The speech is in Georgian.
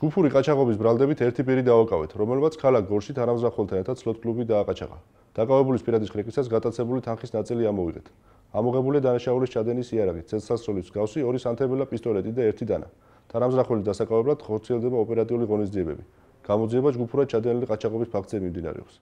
ჯგუფური ყაჩაღობის ბრალდებით ერთი პირი დააკავეთ, რომელმაც ქალაქ გორში თანამზრახველთან ერთად სლოტ კლუბი დააყაჩაღა. დაკავებულის პირადის ხრეკისას გატაცებული თანხის ნაწილი ამოვიღეთ. ამოღებულია დანაშაულის ჩადენის იარაღი, ცეცხლსასროლის მსგავსი 2 სანთებელა პისტოლეტი და 1 დანა. თანამზრახველის დასაკავებლად ხორციელდება ოპერატიული ღონისძიებები. გამოძიება ჯგუფურად ჩადენილი ყაჩაღობის ფაქტზე მიმდინარეობს.